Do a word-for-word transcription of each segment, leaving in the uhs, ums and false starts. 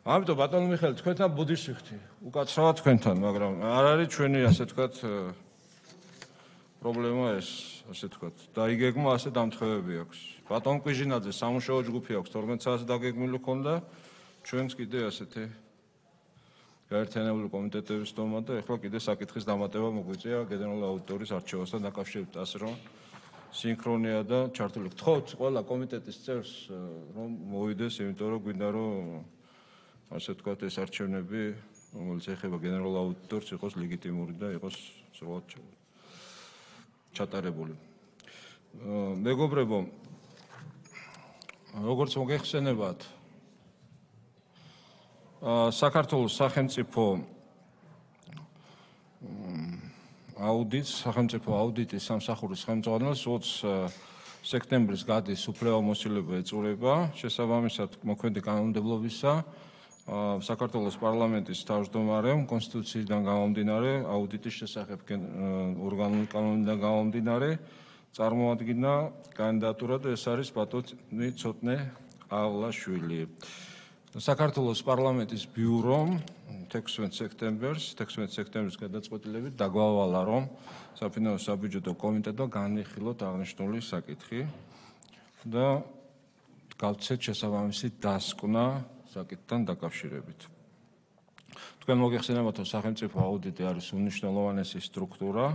ამიტომ ბატონო მიხეილ, თქვენთან ბუდის ვიხდი. უკაცრავად თქვენთან, მაგრამ არ არის ჩვენი ასე ვთქვათ პრობლემა ეს, ასე ვთქვათ. და იგეგმა ასე დამთხევები აქვს. ბატონ კვიჟინაძე სამუშაო ჯგუფი აქვს თორმეტ საათს დაგეგმილი ქონდა, ჩვენც კიდე ასეთი გაერთიანებული კომიტეტების დომა და ეხლა კიდე საკითხის დამატება მოგვიწია გენერალური აუდიტორის არჩევასთან დაკავშირებით, ასე რომ სინქრონია და ჩართული. გთხოვთ ყველა კომიტეტის წევრს რომ მოვიდეს, იმიტომ რომ გვინდა რომ ასე ვთქვათ ეს არჩევნები, რომელიც ეხება გენერალურ აუდიტორს, იყოს ლეგიტიმური და იყოს სწორად ჩატარებული. მეგობრებო, როგორც მოგეხსენებათ, საქართველოს სახელმწიფო აუდიტს, სახელმწიფო აუდიტის სამსახურის ხელმძღვანელს ოცი სექტემბრის გადის უფლებამოსილება ეწურება, შესაბამისად მოქმედი კანონმდებლობისა საქართველოს პარლამენტის თავმჯდომარემ კონსტიტუციიდან გამომდინარე, აუდიტის შესახებ ორგანული კანონიდან გამომდინარე, წარმოადგინა კანდიდატურა და ეს არის ბატონი ცოტნე ავლაშვილი. საქართველოს პარლამენტის ბიურომ თექვსმეტ სექტემბერს, თექვსმეტ სექტემბრის გადაწყვეტილებით დაგვავალა, რომ საფინანსო საბიუჯეტო კომიტეტმა განიხილოთ აღნიშნული საკითხი და გავცეთ შესაბამისი დასკვნა საკითხთან დაკავშირებით. თქვენ მოგეხსენებათ, რომ სახელმწიფო აუდიტი არის უმნიშვნელოვანესი სტრუქტურა.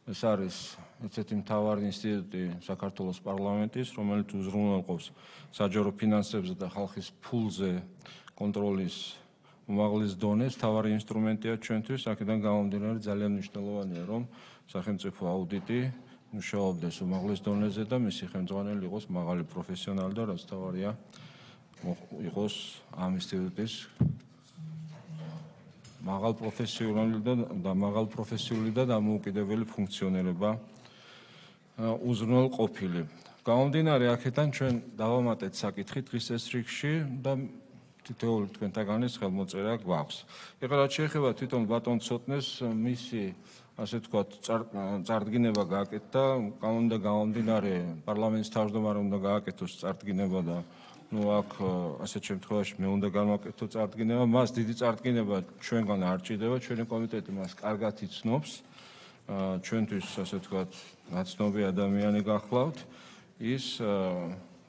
ეს არის ესეთი მთავარი ინსტიტუტი საქართველოს პარლამენტის, რომელიც უზრუნველყოფს საჯარო ფინანსებზე და ხალხის ფულზე კონტროლის უმაღლეს დონეს. მთავარი ინსტრუმენტია ჩვენთვის, აქედან გამომდინარე ძალიან მნიშვნელოვანია, რომ სახელმწიფო აუდიტი მუშაობდეს უმაღლეს დონეზე და მისი ხელმძღვანელი იყოს მაღალი პროფესიონალი და რაც მთავარია იყოს ამ ინსტიტუტის მაღალ პროფესიონალი და მაღალ პროფესიული და დამოუკიდებელი ფუნქციონირება უზრუნველყოფილი. გამომდინარე აქედან ჩვენ დავამატეთ საკითხი დღის ეს რიგში და თითოეული თქვენთაგანის ხელმოწერა გვაქვს. ეხლა რაც შეეხება თვითონ ბატონ ცოტნეს მისი ასე ვთქვათ წარდგინება გააკეთა, კანონიდან გამომდინარე პარლამენტის თავმჯდომარემ უნდა გააკეთოს წარდგინება და ну აქ ასეთ შემთხვევაში მე უნდა გამოვაკეთო წარდგინება, მას დიდი წარდგინება ჩვენგან არ ჭირდება, ჩვენი კომიტეტი მას კარგად იცნობს, ჩვენთვის ასე ვთქვათ ნაცნობი ადამიანი გახლავთ, ის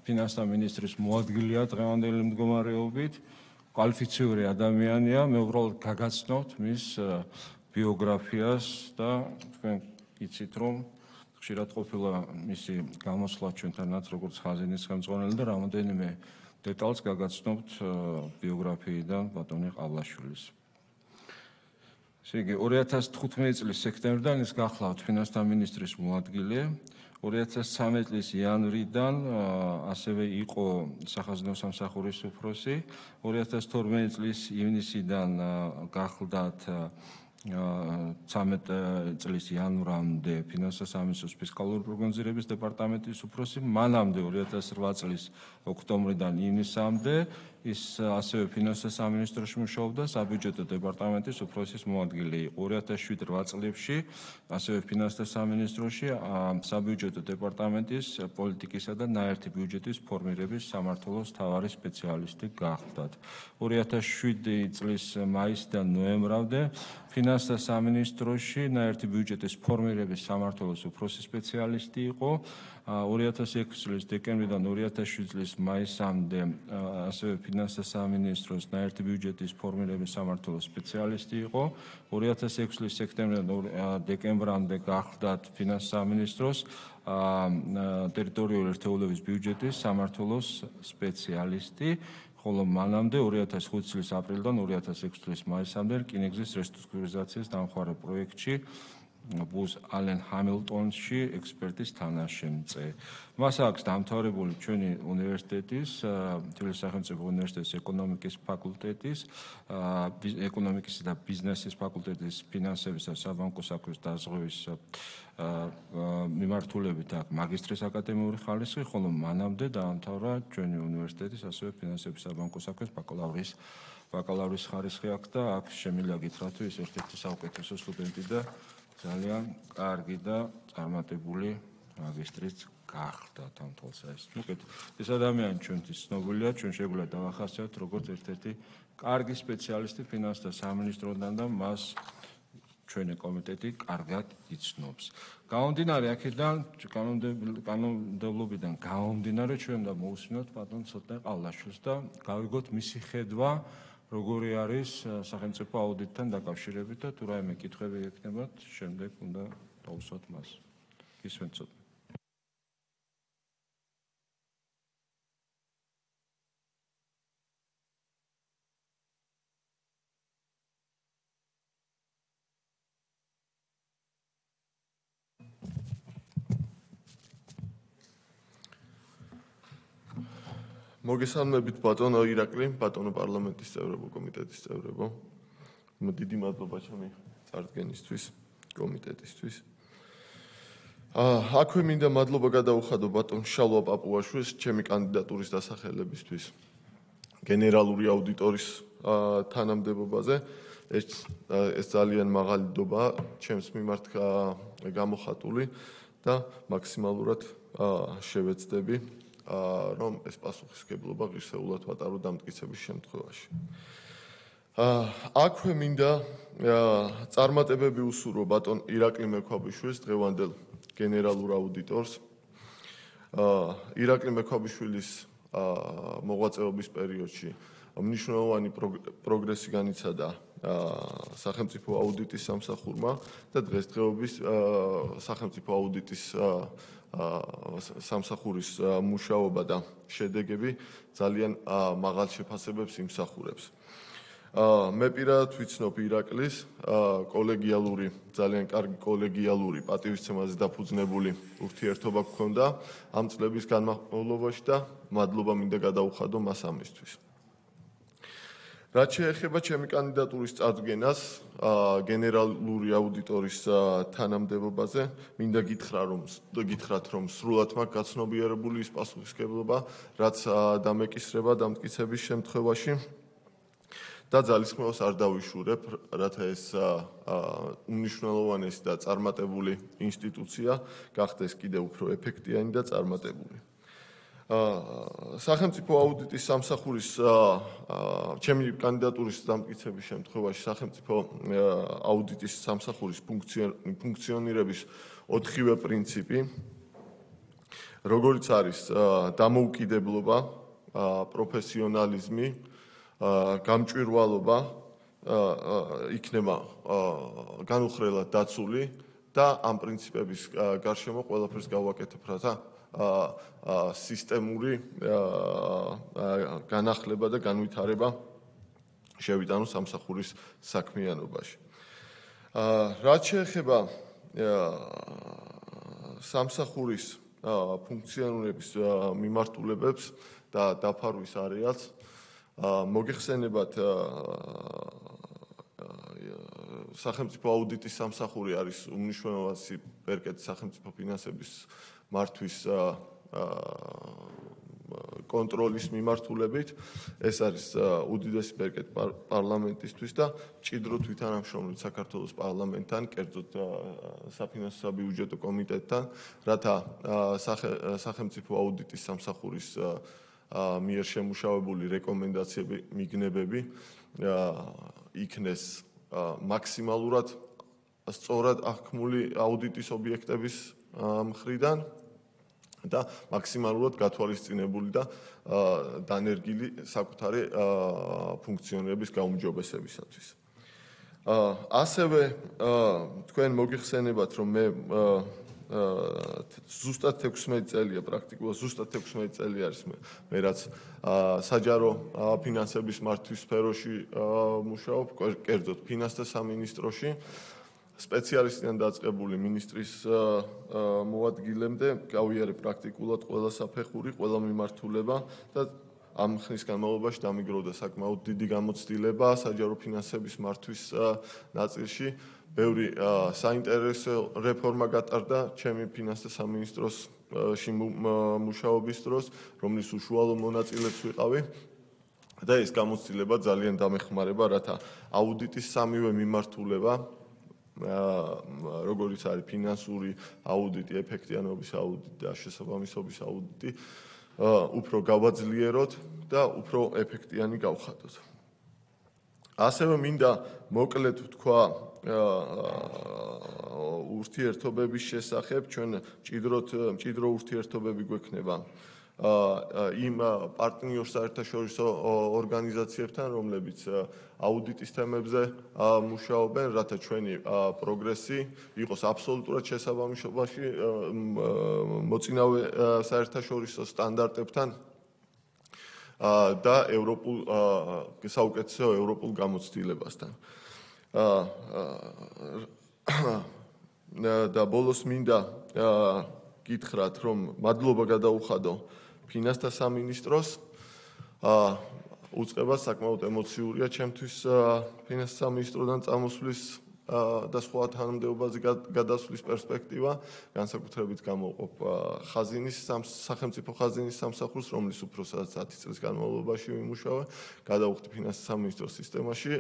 ფინანსთა მინისტრის მოადგილეა დღევანდელი მდგომარეობით, კვალიფიციური ადამიანია, მე უბრალოდ გაგაცნობთ მის ბიოგრაფიას და თქვენ იცით რომ ხშირად ყოფილა მისი გამოსვლა ჩვენთანაც როგორც ხაზინის ხელმძღვანელი და რამოდენიმე დეტალს გაგაცნობთ ბიოგრაფიიდან ბატონი ყავლაშვილის. ესე იგი ორი ათას თხუთმეტი წლის სექტემბრიდან ის გახლავთ ფინანსთა მინისტრის მოადგილე, ორი ათას ცხრამეტი წლის იანვრიდან ასევე იყო სახაზინო სამსახურის უფროსი, ორი ათას თორმეტი წლის ივნისიდან გახლდათ ცამეტ წლის იანვრამდე ფინანსთა სამინისტროს ფისკალური პროგნოზირების დეპარტამენტის უფროსი, მანამდე ორი ათას რვა წლის ოქტომბრიდან ივნისამდე ის ასევე ფინანსთა სამინისტროში მუშაობდა საბიუჯეტო დეპარტამენტის უფროსის მოადგილე იყო. ორი ათას შვიდ რვა წლებში ასევე ფინანსთა სამინისტროში საბიუჯეტო დეპარტამენტის პოლიტიკისა და ნაერთი ბიუჯეტის ფორმირების სამმართველოს მთავარი სპეციალისტი გახლდათ. ორი ათას შვიდი წლის მაისიდან ნოემბრამდე ფინანსთა სამინისტროში ნაერთი ბიუჯეტის ფორმირების სამმართველოს უფროსი სპეციალისტი იყო. ორი ათას ექვსი წლის დეკემბრიდან ორი ათას შვიდი წლის მაისამდე ასევე ფინანსთა სამინისტროს ნაერთი ბიუჯეტის ფორმირების სამმართველოს სპეციალისტი იყო. ორი ათას ექვსი წლის სექტემბრიდან დეკემბრამდე გახლდათ ფინანსთა სამინისტროს ტერიტორიული ერთეულების ბიუჯეტის სამმართველოს სპეციალისტი. ხოლო მანამდე ორი ათას ხუთი წლის აპრილიდან ორი ათას ექვსი წლის მაისამდე რკინიგზის რესტრუქტურიზაციის დამხმარე პროექტში ბუზ ალენ ჰამილტონში ექსპერტის თანაშემწე. მას აქვს დამთავრებული ჩვენი უნივერსიტეტის, თბილისის სახელმწიფო უნივერსიტეტის ეკონომიკის ფაკულტეტის, ეკონომიკისა და ბიზნესის ფაკულტეტის ფინანსების და საბანკო საქმის დაზღვევის მიმართულებით აქვს მაგისტრის აკადემიური ხარისხი, ხოლო მანამდე დაამთავრა ჩვენი უნივერსიტეტის ასევე ფინანსების საბანკო საქმის ბაკალავრის ბაკალავრის ხარისხი აქვს და აქ შემიძლია გითხრათ, ის ერთ-ერთი საუკეთესო სტუდენტი და ძალიან კარგი და წარმატებული მაგისტრიც გახდა თამთოლსა ეს. მოკეთ ეს ადამიანი ჩვენთვის ცნობილია, ჩვენ შეგვიძლია დავახასიათოთ როგორც ერთ-ერთი კარგი სპეციალისტი ფინანსთა სამინისტროდან და მას ჩვენი კომიტეტი კარგად იცნობს. გამომდინარე აქედან, კანონმდებლობიდან გამომდინარე ჩვენ და მოусმინოთ ბატონ ცოტნე ყავლაშვილს და გავიგოთ მისი ხედვა, როგორი არის სახელმწიფო აუდიტთან დაკავშირებით და თუ რაიმე კითხვები ექნებათ, შემდეგ უნდა დავუსვათ მას. გისმენთ ცოტნე. მოგესალმებით ბატონო ირაკლი, ბატონო პარლამენტის წევრებო, კომიტეტის წევრებო. დიდი მადლობა ჩემი წარდგენისთვის, კომიტეტისთვის. აქვე მინდა მადლობა გადაუხადო ბატონ შალვა პაპუაშვილს ჩემი კანდიდატურის დასახელებისთვის გენერალური აუდიტორის თანამდებობაზე. ეს ეს ძალიან მაღალი დობაა ჩემს მიმართ გამოხატული და მაქსიმალურად შევეცდები რომ ეს პასუხისმგებლობა ღირსეულად ვატარო დამტკიცების შემთხვევაში. აქვე მინდა წარმატებები უსურვო ბატონ ირაკლი მექვაბიშვილს, დღევანდელ გენერალურ აუდიტორს. ირაკლი მექვაბიშვილის მოღვაწეობის პერიოდში მნიშვნელოვანი პროგრესი განიცადა სახელმწიფო აუდიტის სამსახურმა და დღესდღეობის სახელმწიფო აუდიტის სამსახურის მუშაობა და შედეგები ძალიან მაღალ შეფასებებს იმსახურებს. მე პირადად ვიცნობ ირაკლის კოლეგიალური, ძალიან კარგი კოლეგიალური პატივისცემაზე დაფუძნებული ურთიერთობა გქონდა ამ წლების განმავლობაში და მადლობა მინდა გადაუხადო მას ამისთვის. რაც შეეხება ჩემი კანდიდატურის წარდგენას გენერალური აუდიტორის თანამდებობაზე, მინდა გითხრა რომ გითხრათ რომ სრულად მაქვს გაცნობიერებული ის პასუხისმგებლობა, რაც დამეკისრება დამტკიცების შემთხვევაში და ძალისხმევას არ დავიშურებ, რათა ეს უმნიშვნელოვანესი და წარმატებული ინსტიტუცია გახდეს კიდევ უფრო ეფექტიანი და წარმატებული. სახელმწიფო აუდიტის სამსახურის ჩემი კანდიდატურის დამტკიცების შემთხვევაში სახელმწიფო აუდიტის სამსახურის ფუნქციონირების ოთხივე პრინციპი, როგორიც არის დამოუკიდებლობა, პროფესიონალიზმი, გამჭვირვალობა იქნება განუხრელად დაცული და ამ პრინციპების გარშემო ყველაფერს გავაკეთებ, რათა სისტემური განახლება და განვითარება შევიტანო სამსახურის საქმიანობაში. რაც შეეხება სამსახურის ფუნქციონირების მიმართულებებს და დაფარვის არეალს, მოგეხსენებათ სახელმწიფო აუდიტის სამსახური არის უმნიშვნელოვანესი ბერკეტი სახელმწიფო ფინანსების მართვის კონტროლის მიმართულებით. ეს არის უდიდესი ბერკეტი პარლამენტისთვის და მჭიდროდ ვითანამშრომლობთ საქართველოს პარლამენტთან, კერძოდ საფინანსო საბიუჯეტო კომიტეტთან, რათა სახელმწიფო აუდიტის სამსახურის მიერ შემუშავებული რეკომენდაციები, მიგნებები იქნეს მაქსიმალურად სწორად აღქმული აუდიტის ობიექტების მხრიდან და მაქსიმალურად გათვალისწინებული და დანერგილი საკუთარი ფუნქციონირების გაუმჯობესებისათვის. ასევე თქვენ მოგიხსენებათ, რომ მე ზუსტად თექვსმეტი წელია პრაქტიკულად ზუსტად თექვსმეტი წელი არის მე რაც საჯარო ფინანსების მართვის სფეროში მუშაობ, კერძოდ ფინანსთა სამინისტროში, სპეციალისტიდან დაწყებული მინისტრის მოადგილემდე გავიარე პრაქტიკულად ყველა საფეხური, ყველა მიმართულება და ამ ხნის განმავლობაში დამიგროვდა საკმაოდ დიდი გამოცდილება საჯარო ფინანსების მართვის ნაწილში. ბევრი საინტერესო რეფორმა გატარდა ჩემი ფინანსთა სამინისტროში მუშაობის დროს, რომლის უშუალო მონაწილეც ვიყავი და ეს გამოცდილება ძალიან დამეხმარება, რათა აუდიტის სამივე მიმართულება როგორიც არის ფინანსური აუდიტი, ეფექტიანობის აუდიტი და შესაბამისობის აუდიტი, უფრო გავაძლიეროთ და უფრო ეფექტიანი გავხადოთ. ასევე მინდა მოკლედ ვთქვა ურთიერთობების შესახებ, ჩვენ მჭიდროდ მჭიდრო ურთიერთობები გვექნება იმ პარტნიორ საერთაშორისო ორგანიზაციებთან, რომლებიც აუდიტის თემებზე მუშაობენ, რათა ჩვენი პროგრესი იყოს აბსოლუტურად შესაბამისობაში მოწინავე საერთაშორისო სტანდარტებთან და ევროპულ საუკეთესო ევროპულ გამოცდილებასთან. და ბოლოს მინდა გითხრათ, რომ მადლობა გადაუხადო ფინანსთა სამინისტროს. უწყება საკმაოდ ემოციურია ჩემთვის ფინანსთა სამინისტროდან წამოსვლის და სხვა თანამდებობაზე გადასვლის პერსპექტივა, განსაკუთრებით გამოვყოფ ხაზინის სახელმწიფო ხაზინის სამსახურს, რომლის უფროსად ათი წლის განმავლობაში ვიმუშავე, გადავხვდი ფინანსთა სამინისტროს სისტემაში.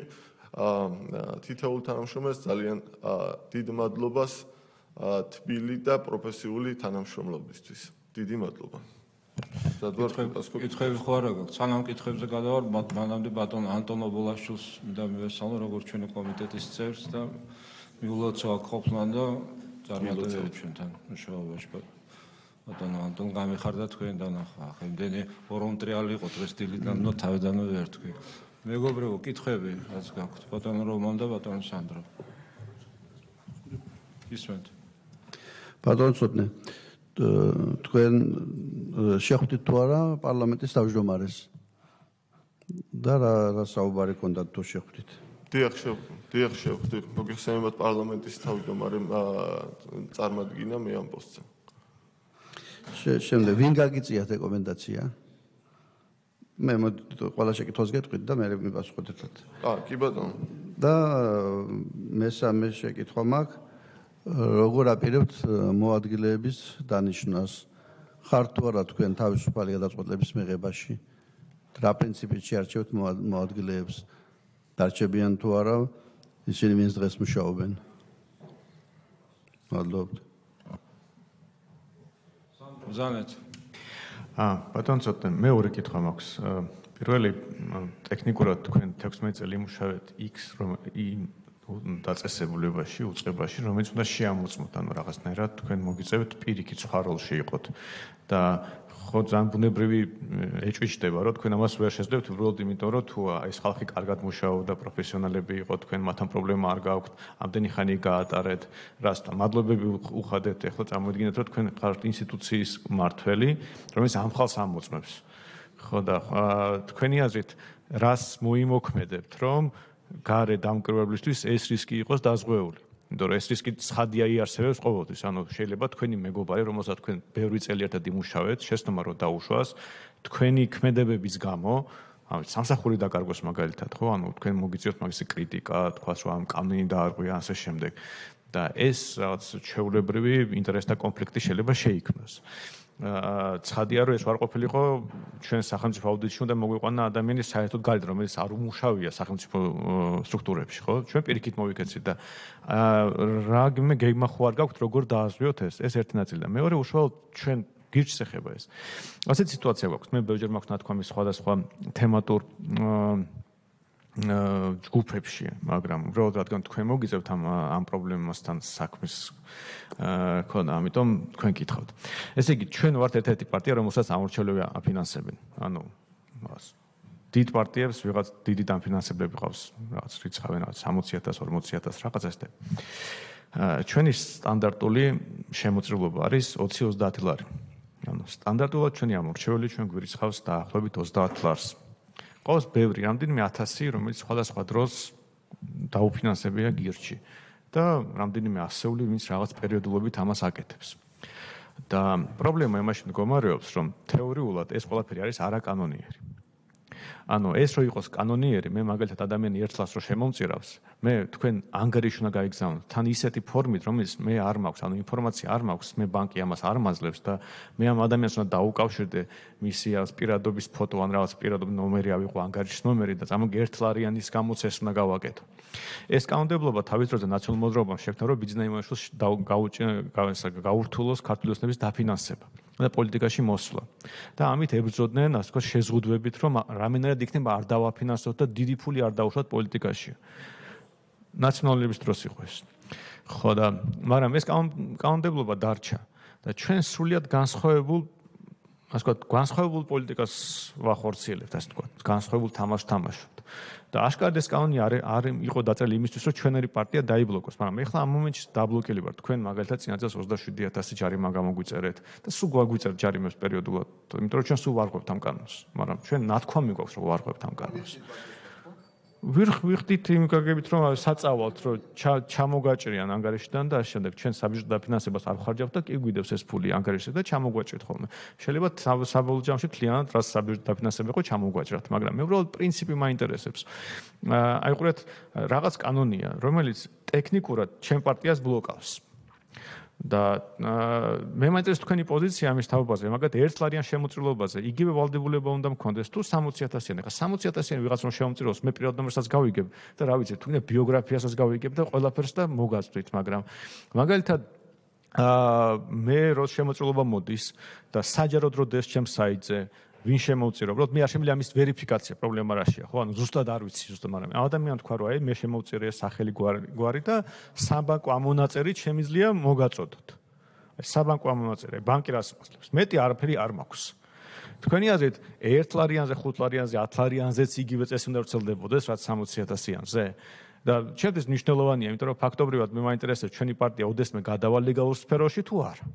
თითოეულ თანამშრომელს ძალიან დიდ მადლობას თბილი და პროფესიული თანამშრომლობისთვის. დიდი მადლობა. კითხვები ხო არა გაქვს? სანამ კითხვებზე გადავარ, მანამდე ბატონ ანტონ ობოლაშვილს მინდა მივესალმო, როგორც ჩვენი კომიტეტის წევრს და მიულოცო აქ ყოფნან და წარმატებები ჩვენთან მუშაობაში. ბატონ ანტონ, გამიხარდა თქვენი დანახვა. ახლა იმდენი ვოლონტრიალი იყო დღეს დილიდან და თავიდანვე ვერ თქვი. მეგობრებო, კითხვები რაც გაქვთ? ბატონ რომან და ბატონ სანდრო. ისმენთ. ბატონ ცოტნე, თქვენ შეხვდით თუ არა პარლამენტის თავმჯდომარეს და რა რა საუბარი ჰქონდათ თუ შეხვდით? დიახ, დიახ, შეხვდით. მოგიხსენებათ პარლამენტის თავმჯდომარე წარმადგინა მე ამ პოსტზე. შემდეგ ვინ გაგიწიათ რეკომენდაცია? მე ყველა შეკითხვას გეტყვით და მე მიპასუხოთ ერთად. აა, კი ბატონო. და მესამე შეკითხვა მაქვს, როგორ აპირებთ მოადგილეების დანიშვნას? ხართ თუ არა თქვენ თავისუფალი გადაწყვეტილების მიღებაში? რა პრინციპით შეარჩევთ მოადგილეებს? დარჩებიან თუ არა ისინი, ვინც დღეს მუშაობენ? მადლობთ. ზანეთ. აა, ბატონ ცოტნე, მეორე კითხვა მაქვს. პირველი ტექნიკურად თქვენ თექვსმეტ წელი იმუშავეთ X რომ დაწესებულებაში, უწყებაში, რომელიც უნდა შეამოწმოთ, ანუ რაღაცნაირად თქვენ მოგიწევთ პირიქით სხვა როლში იყოთ და ხო ძალიან ბუნებრივი ეჭვიჭდება, რომ თქვენ ამას ვერ შეძლებთ, უბრალოდ იმიტომ, რომ თუ ეს ხალხი კარგად მუშაობდა, პროფესიონალები იყო, თქვენ მათთან პრობლემა არ გააქვთ, ამდენი ხანი გაატარეთ, რასთან მადლობები უხადეთ, ეხლა წარმოიდგინეთ, რომ თქვენ ხართ ინსტიტუციის მმართველი, რომელიც ამ ხალხს ამოწმებს. ხო და თქვენი აზრით, რას მოიმოქმედებთ, რომ გარე დამკვირვებლისთვის ეს რისკი იყოს დაზღვეული? იმიტომ რომ ეს რისკი ცხადია იარსებებს ყოველთვის, ანუ შეიძლება თქვენი მეგობარი, რომელსაც თქვენ ბევრი წელი ერთად იმუშავეთ, შეცდომა რომ დაუშვას, თქვენი ქმედებების გამო, ანუ სამსახური დაკარგვას მაგალითად, ხო, ანუ თქვენ მოგიწევთ მაგისი კრიტიკა, თქვას რომ ამ კანონი დაარღვია ასე შემდეგ. და ეს რაღაც ჩვეულებრივი ინტერესთა კონფლიქტი შეიძლება შეიქმნას. ცხადია რომ ეს არ ყოფილიყო ჩვენ სახელმწიფო აუდიტში უნდა მოგვიყვანა ადამიანი საერთოდ გარეთ რომელიც არ უმუშავია სახელმწიფო სტრუქტურებში ხო ჩვენ პირიქით მოვიქეცით და რაგმე გეგმა ხო არ გაქვთ როგორ დააზღვიოთ ეს ეს ერთი ნაწილი და მეორე უშუალოდ ჩვენ გირჩს ეხება ეს ასეთ სიტუაცია გვაქვს მე ბევრჯერ მაქვს ნათქვამი სხვადასხვა თემატურ ჯგუფებში, მაგრამ უბრალოდ რადგან თქვენ მოგიწევთ ამ ამ პრობლემასთან საქმის ქონა, ამიტომ თქვენ გითხავთ. ესე იგი, ჩვენ ვართ ერთ-ერთი პარტია, რომელსაც ამორჩევლები აფინანსებენ. ანუ დიდ პარტიებს ვიღაც დიდი დაფინანსებლები ყავს, რაღაც რიცხავენ, რაღაც სამოცი ათას, ორმოცი ათას რაღაც ესეთი. ჩვენი სტანდარტული შემოწირულობა არის ოცი ოცდაათი ლარი. ანუ სტანდარტულად ჩვენი ამორჩეველი ჩვენ გვირიცხავს დაახლოებით ოცდაათ ლარს. ყავს ბევრი რამდენიმე ათასი, რომელიც სხვადასხვა დროს დაუფინანსებია გირჩი და რამდენიმე ასეული, ვინც რაღაც პერიოდულობით ამას აკეთებს. და პრობლემა იმაში მდგომარეობს, რომ თეორიულად ეს ყველაფერი არის არაკანონიერი. ანუ ეს რო იყოს კანონიერი, მე მაგალითად ადამიანი ერთლას რო შემომწირავს, მე თქვენ ანგარიში უნდა გაიგზავნოთ. თან ისეთი ფორმით, რომელიც მე არ მაქვს, ანუ ინფორმაცია არ მაქვს, მე ბანკი ამას არ მაძლევს და მე ამ ადამიანს უნდა დაუკავშირდე მისი პირადობის ფოტო ან რაღაც პირადობის ნომერი ავიღო, ანგარიშის ნომერი და წამოგი ერთლარიანის გამოცეს უნდა გავაკეთო. ეს კანონმდებლობა თავის დროზე ნაციონალურ მოძრაობამ შექმნა, რომ ბიზნესმენებს გაურთულოს ქართული ოცნების დაფინანსება და პოლიტიკაში მოსვლა. და ამით ებრძოდნენ, ასე ვთქვათ, შეზღუდვებით, რომ რამენერად იქნება არ დავაფინანსოთ და დიდი ფული არ დავუშვათ პოლიტიკაში. ნაციონალების დროს იყო ეს. ხო და მაგრამ ეს კანონმდებლობა დარჩა და ჩვენ სრულიად განსხვავებულ, ასე ვთქვათ, განსხვავებულ პოლიტიკას ვახორციელებთ, ასე ვთქვათ, განსხვავებულ თამაშს თამაშობთ. და აშკარად ეს კანონი არ არ იყო დაწერილი იმისთვის, რომ ჩვენერი პარტია დაიბლოკოს, მაგრამ ეხლა ამ მომენტში დაბლოკილი ვართ. თქვენ მაგალითად წინა წელს ოცდაშვიდი ათასი ჯარიმა გამოგვიწერეთ და სულ გვაგვიწერთ ჯარიმებს პერიოდულად, იმიტომ რომ ჩვენ სულ ვარღვევთ ამ კანონს, მაგრამ ჩვენ ნათქვამი გვაქვს, რომ ვარღვევთ ამ კანონს. ვირ ვიხდით იმ გაგებით, რომ საწავალთ, რომ ჩამოგაჭრიან ანგარიშიდან და ამ შემდეგ ჩვენ საბიუჯეტო დაფინანსებას არ ხარჯავთ და კი გვიდევს ეს ფული ანგარიშზე და ჩამოგვაჭრით ხოლმე. შეიძლება საბოლოო ჯამში მთლიანად რას საბიუჯეტო დაფინანსება იყო ჩამოგვაჭრათ, მაგრამ მე უბრალოდ პრინციპი მაინტერესებს. აი ყურეთ, რაღაც კანონია, რომელიც ტექნიკურად ჩემ პარტიას ბლოკავს. და მე მაინტერესებს თქვენი პოზიცია ამის თაობაზე, მაგათ ერთლარიან შემოწირულობაზე, იგივე ვალდებულება უნდა მქონდეს თუ სამოცი ათასიანი. ხა სამოცი ათასიანი ვიღაც რომ შემოწიროს, მე პირად ნომერსაც გავიგებ და რა ვიცი, თუნდაც ბიოგრაფიასაც გავიგებ და ყველაფერს და მოგაწვით, მაგრამ მაგალითად მე რო შემოწირულობა მოდის და საჯაროდ რო დეს ჩემს საიტზე, ვინ შემოუწირო, უბრალოდ მე არ შემიძლია ამის ვერიფიკაცია, პრობლემა რაშია, ხო? ანუ ზუსტად არ ვიცი, ზუსტად, მაგრამ ამ ადამიანს თქვა, რომ აი მე შემოუწირე სახელი გვარი და საბანკო ამონაწერით შემიძლია მოგაწოდოთ. აი საბანკო ამონაწერი, ბანკი რას მოსლებს? მეტი არაფერი არ მაქვს. თქვენი აზრით, ერთ ლარიანზე, ხუთ ლარიანზე, ათ ლარიანზეც იგივე წესი უნდა ვრცელდებოდეს, რაც სამოცი ათასიანზე? და ჩემთვის მნიშვნელოვანია, იმიტომ რომ ფაქტობრივად მე მაინტერესებს ჩვენი პარტია ოდესმე გადავალ ლეგალურ სფეროში თუ არა.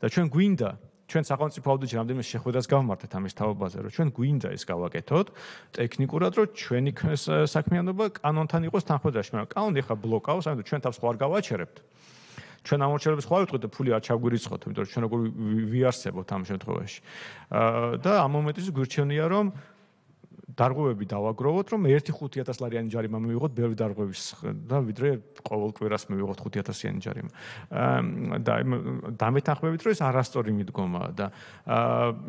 და ჩვენ გვინდა ჩვენ სახელმწიფო აუდიტში რამდენიმე შეხვედრას გავმართეთ ამის თაობაზე, რომ ჩვენ გვინდა ეს გავაკეთოთ ტექნიკურად, რომ ჩვენი საქმიანობა კანონთან იყოს თანხმობაში, მაგრამ კანონი ახლა ბლოკავს, ამიტომ ჩვენ თავს ხო არ გავაჩერებთ. ჩვენ ამორჩევლებს ხო არ ვიტყვით და ფული არ ჩაგვირიცხოთ, იმიტომ რომ ჩვენ როგორ ვიარსებოთ ამ შემთხვევაში. და ამ მომენტში გვირჩევნია, რომ დარღვევები დავაგროვოთ, რომ ერთი ხუთი ათას ლარიანი ჯარიმა მივიღოთ ბევრი დარღვევის და ვიდრე ყოველ კვირას მივიღოთ ხუთი ათასიანი ჯარიმა. და დამეთანხმებით, რომ ეს არასწორი მიდგომაა და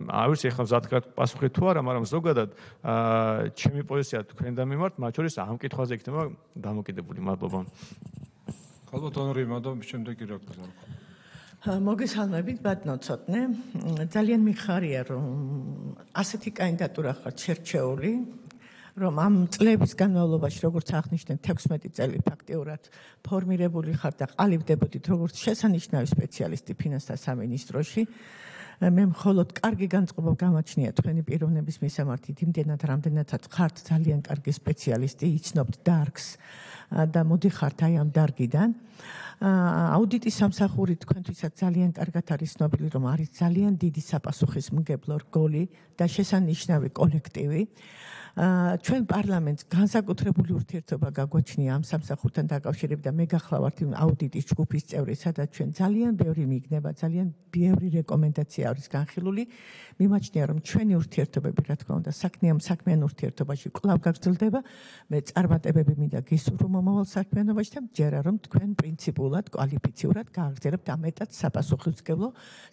არ ვიცი ახლა მზად პასუხი თუ არა, მაგრამ ზოგადად ჩემი პოზიცია თქვენდა მიმართ, მათ შორის ამ კითხვაზე იქნება დამოკიდებული. მადლობა. ალბათ ონორიმა და შემდეგი რა გზაა. მოგესალმებით, ბატონო ცოტნე. ძალიან მიხარია, რომ ასეთი კანდიდატურა ხართ შერჩეული, რომ ამ წლების განმავლობაში, როგორც აღნიშნეთ, თექვსმეტი წელი ფაქტიურად ფორმირებული ხართ და ყალიბდებოდით როგორც შესანიშნავი სპეციალისტი ფინანსთა სამინისტროში. მე მხოლოდ კარგი განწყობა გამაჩნია თქვენი პიროვნების მისამართით, იმდენად რამდენადაც ხართ ძალიან კარგი სპეციალისტი, იცნობთ დარგს და მოდიხართ აი ამ დარგიდან. აუდიტის სამსახური თქვენთვისაც ძალიან კარგად არის ცნობილი, რომ არის ძალიან დიდი საპასუხისმგებლო რგოლი და შესანიშნავი კოლექტივი. ჩვენ პარლამენტს განსაკუთრებული ურთიერთობა გაგვაჩნია ამ სამსახურთან დაკავშირებით და მე გახლავართ იმ აუდიტის ჯგუფის წევრი, სადაც ჩვენ ძალიან ბევრი მიგნება, ძალიან ბევრი რეკომენდაცია არის განხილული. მიმაჩნია, რომ ჩვენი ურთიერთობები, რა თქმა უნდა, საქმიან საქმიან ურთიერთობაში კვლავ გაგრძელდება. მე წარმატებები მინდა გისურვო მომავალ საქმიანობაში და მჯერა, რომ თქვენ პრინციპულად, კვალიფიციურად გააგრძელებთ ამ მეტად საპასუხისმგებლო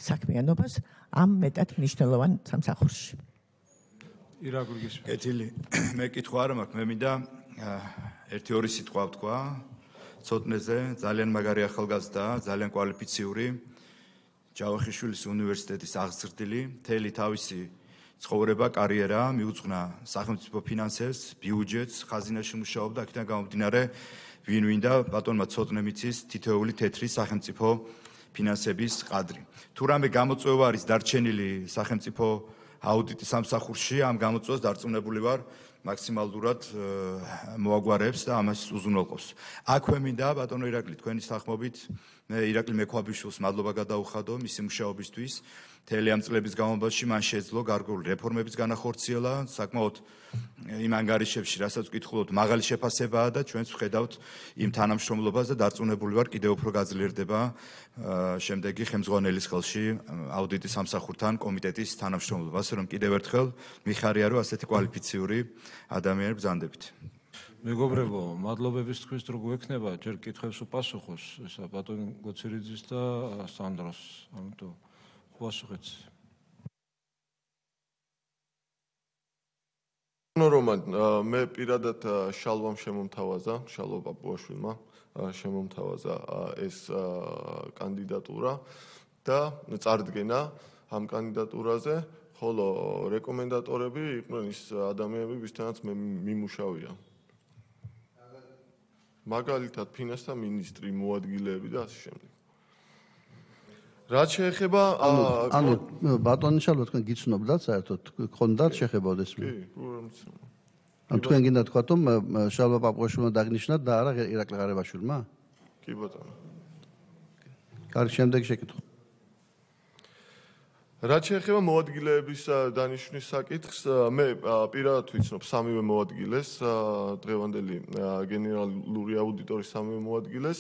საქმიანობას ამ მეტად მნიშვნელოვან სამსახურში. კეთილი, მე კითხვა არ მაქვს, მე მინდა ერთი ორი სიტყვა ვთქვა ცოტნეზე, ძალიან მაგარი ახალგაზრდა, ძალიან კვალიფიციური, ჯავახიშვილის უნივერსიტეტის აღზრდილი, მთელი თავისი ცხოვრება, კარიერა მიუძღვნა სახელმწიფო ფინანსებს, ბიუჯეტს, ხაზინაში მუშაობდა, აქედან გამომდინარე, ვინ ვინდა ბატონმა ცოტნე მიცის თითოეული თეთრი სახელმწიფო ფინანსების ყადრი. თუ რამე გამოწვევა არის დარჩენილი სახელმწიფო აუდიტის სამსახურში, ამ გამოწვევას დარწმუნებული ვარ, მაქსიმალურად მოაგვარებს და ამას უზრუნველყოფს. აქვე მინდა ბატონო ირაკლი თქვენი სახმობით, მე ირაკლი მექვაბიშვილს მადლობა გადაუხადო მისი მუშაობისთვის მთელი ამ წლების განმავლობაში მან შეძლო გარკვეული რეფორმების განახორციელა, საკმაოდ იმ ანგარიშებში, რასაც ვკითხულობთ, მაღალი შეფასებაა და ჩვენც ვხედავთ იმ თანამშრომლობას და დარწმუნებული ვარ, კიდევ უფრო გაძლიერდება შემდეგი ხელმძღვანელის ხელში აუდიტის სამსახურთან კომიტეტის თანამშრომლობა, ასე რომ კიდევ ერთხელ მიხარია, რომ ასეთი კვალიფიციური ადამიანები ბრძანდებით. მეგობრებო, მადლობების თქვის თუ გვექნება, ჯერ კითხვებს უპასუხოს, ესა ბატონ გოცირიძის და სანდროს, ამიტომ უპასუხეთ. რომან, მე პირადად შალვამ შემომთავაზა, შალვა პაპუაშვილმა შემომთავაზა ეს კანდიდატურა და წარდგენა ამ კანდიდატურაზე, ხოლო რეკომენდატორები იყვნენ ის ადამიანები, ვისთანაც მე მიმუშავია. მაგალითად, ფინანსთა მინისტრი, მოადგილეები და ასე შემდეგ. რაც შეეხება ანუ ბატონი შალვა თქვენ გიცნობდათ საერთოდ გქონდათ შეხება ეს? კი, უბრალოდ. ანუ თქვენ გინდა თქვათ რომ შალვა პაპუაშვილმა დაგნიშნათ და არა ირაკლი ღარიბაშვილმა? კი ბატონო. კარგი, შემდეგი შეკითხვა. რაც შეეხება მოადგილეების დანიშვნის საკითხს, მე პირადად ვიცნობ სამივე მოადგილეს, დღევანდელი გენერალური აუდიტორის სამივე მოადგილეს.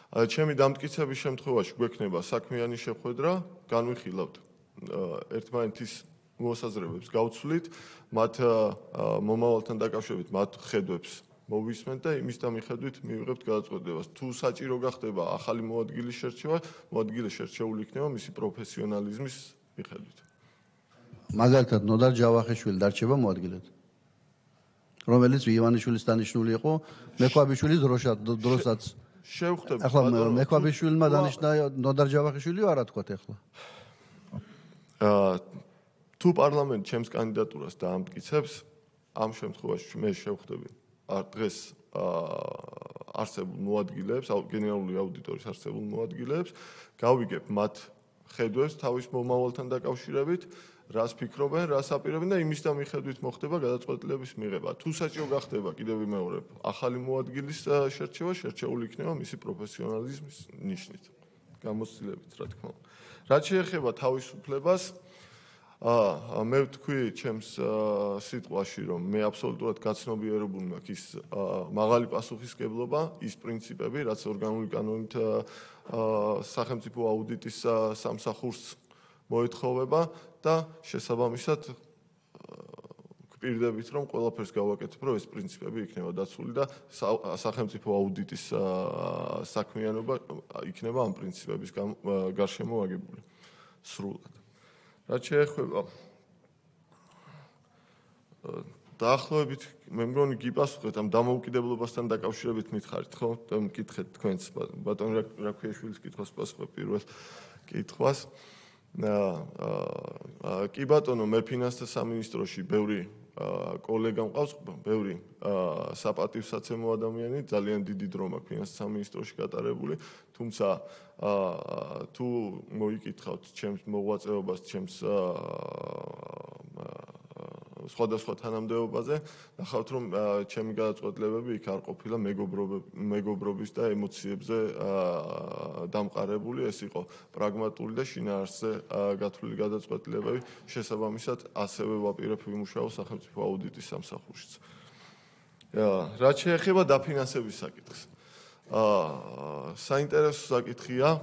ჩემი დამტკიცების შემთხვევაში გვექნება საქმიანი შეხვედრა, განვიხილავთ ერთმანეთის მოსაზრებებს, გავცვლით მათ მომავალთან დაკავშირებით, მათ ხედვებს მოვისმენთ და იმის და მიხედვით მივიღებთ გადაწყვეტილებას. თუ საჭირო გახდება ახალი მოადგილის შერჩევა, მოადგილე შერჩეული იქნება მისი პროფესიონალიზმის მიხედვით. მაგალითად, ნოდარ ჯავახიშვილი დარჩება მოადგილედ, რომელიც ივანიშვილის დანიშნული იყო, მექვაბიშვილის დროსაც. შევხვდებით. ახლა მექვაბიშვილმა დანიშნა ნოდარ ჯავახიშვილი არა თქვათ ახლა. თუ პარლამენტი ჩემს კანდიდატურას დაამტკიცებს, ამ შემთხვევაში მე შევხვდები დღეს არსებულ მოადგილეებს, გენერალური აუდიტორის არსებულ მოადგილეებს, გავიგებ მათ ხედვებს თავის მომავალთან დაკავშირებით, რას ფიქრობენ, რას აპირებენ და იმის და მიხედვით მოხდება გადაწყვეტილების მიღება. თუ საჭირო გახდება, კიდევ ვიმეორებ, ახალი მოადგილის შერჩევა, შერჩეული იქნება მისი პროფესიონალიზმის ნიშნით, გამოცდილებით, რა თქმა უნდა. რაც შეეხება თავისუფლებას, აა მე ვთქვი ჩემს სიტყვაში, რომ მე აბსოლუტურად გაცნობიერებული მაქვს ის მაღალი პასუხისმგებლობა, ის პრინციპები, რაც ორგანული კანონით სახელმწიფო აუდიტის სამსახურს მოეთხოვება და შესაბამისად გვპირდებით, რომ ყველაფერს გავაკეთებ, რომ ეს პრინციპები იქნება დაცული და სახელმწიფო აუდიტის საქმიანობა იქნება ამ პრინციპების გარშემო აგებული სრულად. რაც შეეხება დაახლოებით მე მგონი გიპასუხეთ ამ დამოუკიდებლობასთან დაკავშირებით მითხარით, ხო? მკითხეთ თქვენც ბატონ რაქვიაშვილის კითხვას პასუხებ პირველ კითხვას. კი ბატონო, მე ფინანსთა სამინისტროში ბევრი კოლეგა მყავს, ბევრი საპატივსაცემო ადამიანი, ძალიან დიდი დრო მაქვს ფინანსთა სამინისტროში გატარებული, თუმცა თუ მოიკითხავთ ჩემს მოღვაწეობას, ჩემს სხვადასხვა თანამდებობაზე, ნახავთ რომ ჩემი გადაწყვეტილებები იქ არ ყოფილა მეგობრობის და ემოციებზე დამყარებული, ეს იყო პრაგმატული და შინაარსზე გათვლილი გადაწყვეტილებები, შესაბამისად ასევე ვაპირებ ვიმუშაო სახელმწიფო აუდიტის სამსახურშიც. რაც შეეხება დაფინანსების საკითხს. საინტერესო საკითხია,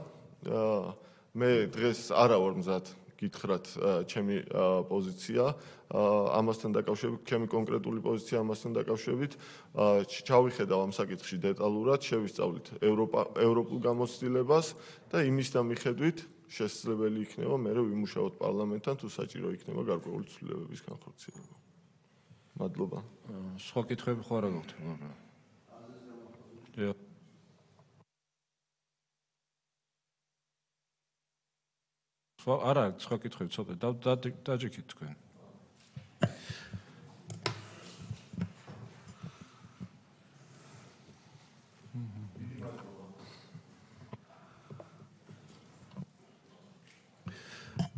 მე დღეს არა ვარ მზად გითხრათ ჩემი პოზიცია ამასთან დაკავშირებით, ჩემი კონკრეტული პოზიცია ამასთან დაკავშირებით, ჩავიხედავ ამ საკითხში დეტალურად, შევისწავლით ევროპულ გამოცდილებას და იმის და მიხედვით შესაძლებელი იქნება მე ვიმუშაოთ პარლამენტთან, თუ საჭირო იქნება გარკვეული ცვლილებების განხორციელება. მადლობა. სხვა კითხვები ხო არა გაქვთ? არა, სხვა კითხვები ცოტა დაჯექით თქვენ.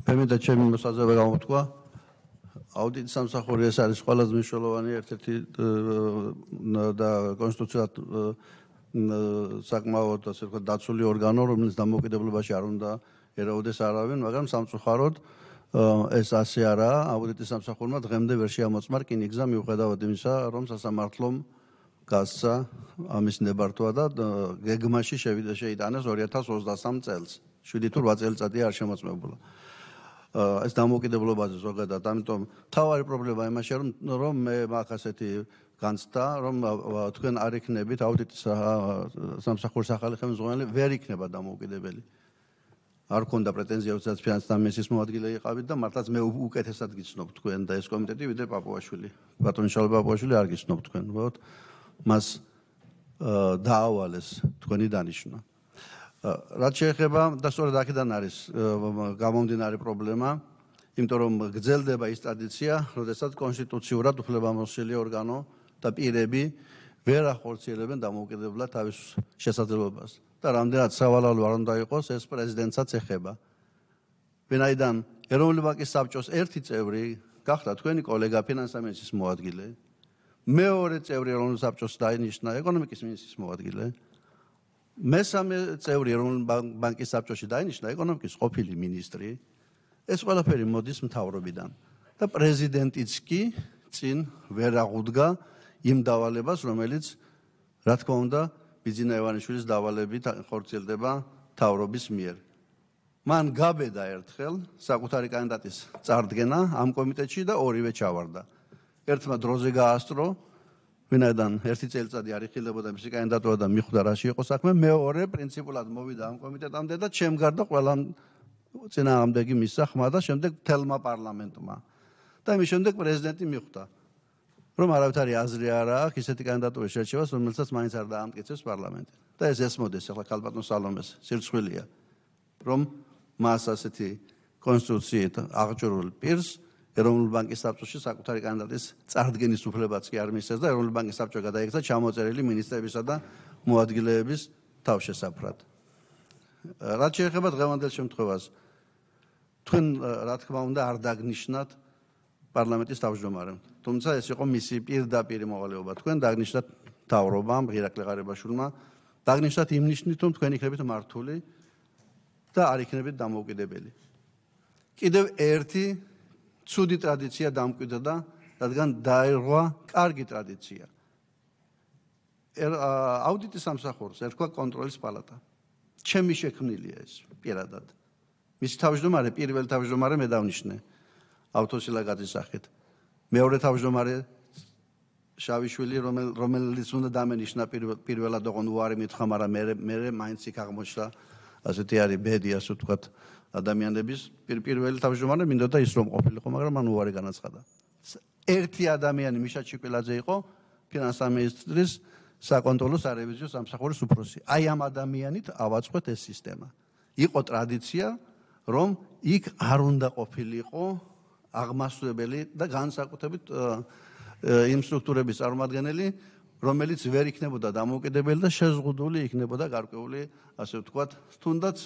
მე მინდა ჩემი მოსაზრება გამოვთქვა. აუდიტის სამსახური ეს არის ყველაზე მნიშვნელოვანი ერთ-ერთი და კონსტიტუციად საკმაოდ ასე ვთქვათ დაცული ორგანო, რომელიც დამოუკიდებლობაში არ უნდა ერაუდეს არავინ, მაგრამ სამწუხაროდ ეს ასე არაა. აუდიტის სამსახურმა დღემდე ვერ შეამოწმა რკინიგზა მიუხედავად იმისა, რომ სასამართლომ გასცა ამის ნებართვა და გეგმაში შევიდა შეიტანეს ორი ათას ოცდასამ წელს. შვიდი თუ რვა წელიწადია არ შემოწმებულა. ეს დამოუკიდებლობაზე ზოგადად, ამიტომ თავარი პრობლემა იმაშია, რომ მე მაქვს ასეთი განცდა, რომ თქვენ არ იქნებით აუდიტის სამსახურის ახალი ხელმძღვანელი ვერ იქნება დამოუკიდებელი. არ ქონდა პრეტენზია, როდესაც ფინანსთა მინისტრის მოადგილე იყავით და მართლაც მე უკეთესად გიცნობ თქვენ და ეს კომიტეტი ვიდრე პაპუაშვილი. ბატონი შალვა პაპუაშვილი არ გიცნობ თქვენ, ვთქვათ, მას დაავალეს თქვენი დანიშვნა. რაც შეეხება და სწორედ აქედან არის გამომდინარე პრობლემა, იმიტომ რომ გრძელდება ის ტრადიცია, როდესაც კონსტიტუციურად უფლებამოსილი ორგანო და პირები ვერ ახორციელებენ დამოუკიდებლად თავის შესაძლებლობას. და რამდენად სავალალო არ უნდა იყოს, ეს პრეზიდენტსაც ეხება. ვინაიდან ეროვნული ბანკის საბჭოს ერთი წევრი გახდა თქვენი კოლეგა ფინანსთა მინისტრის მოადგილე, მეორე წევრი ეროვნული საბჭოს დაინიშნა ეკონომიკის მინისტრის მოადგილე, მესამე წევრი ეროვნული ბანკის საბჭოში დაინიშნა ეკონომიკის ყოფილი მინისტრი, ეს ყველაფერი მოდის მთავრობიდან და პრეზიდენტიც კი წინ ვერ აღუდგა იმ დავალებას, რომელიც რა თქმა უნდა ბიძინა ივანიშვილის დავალებით ხორციელდება მთავრობის მიერ. მან გაბედა ერთხელ საკუთარი კანდიდატის წარდგენა ამ კომიტეტში და ორივე ჩავარდა. ერთმა დროზე გაასწრო, ვინაიდან ერთი წელიწადი არ იხილებოდა მისი კანდიდატურა და მიხვდა რაში იყო საქმე, მეორე პრინციპულად მოვიდა ამ კომიტეტამდე და ჩემ გარდა ყველა წინააღმდეგი მისცა ხმა და შემდეგ თელმა პარლამენტმა. და იმის შემდეგ პრეზიდენტი მიხვდა, რომ არავითარი აზრი არ აქვს ისეთი კანდიდატურის შერჩევას, რომელსაც მაინც არ დაამტკიცებს პარლამენტი. და ეს ესმოდეს ახლა ქალბატონ სალომეს სირცხვილია, რომ მას ასეთი კონსტიტუციით აღჭურვილ პირს ეროვნული ბანკის საბჭოში საკუთარი კანდიდატის წარდგენის უფლებაც კი არ მისცეს და ეროვნული ბანკის საბჭო გადაიქცა ჩამოწერილი მინისტრებისა და მოადგილეების თავშესაფრად. რაც შეეხება დღევანდელ შემთხვევას, თქვენ რა თქმა უნდა არ დაგნიშნათ პარლამენტის თავმჯდომარემ. თუმცა ეს იყო მისი პირდაპირი მოვალეობა. თქვენ დაგნიშნათ მთავრობამ, ღირაკლი ღარიბაშვილმა, დაგნიშნათ იმ ნიშნით, რომ თქვენ იქნებით მართული და არ იქნებით დამოუკიდებელი. კიდევ ერთი ცუდი ტრადიცია დამკვიდრდა, რადგან დაირღვა კარგი ტრადიცია. აუდიტის სამსახურს ერქვა კონტროლის პალატა. ჩემი შექმნილია ეს პირადად. მისი თავმჯდომარე, პირველი თავმჯდომარე მე დავნიშნე ავთოსილაგაძის სახით. მეორე თავმჯდომარე შავიშვილი, რომელიც უნდა დამენიშნა პირველად ოღონ უარი მითხრა, მაგრამ მე მე მაინც იქ აღმოჩნდა ასეთი არის ბედი, ასე ვთქვათ, ადამიანების. პირველი თავმჯდომარე მინდოდა ის რომ ყოფილიყო, მაგრამ მან უარი განაცხადა. ერთი ადამიანი მიშა ჩიკვილაძე იყო ფინანსთა მინისტრის საკონტროლო სარევიზიო სამსახურის უფროსი. აი ამ ადამიანით ავაწყოთ ეს სისტემა. იყო ტრადიცია, რომ იქ არ უნდა ყოფილიყო აღმასვლებელი და განსაკუთრებით იმ სტრუქტურების წარმომადგენელი, რომელიც ვერ იქნებოდა დამოუკიდებელი და შეზღუდული იქნებოდა გარკვეული, ასე ვთქვათ, თუნდაც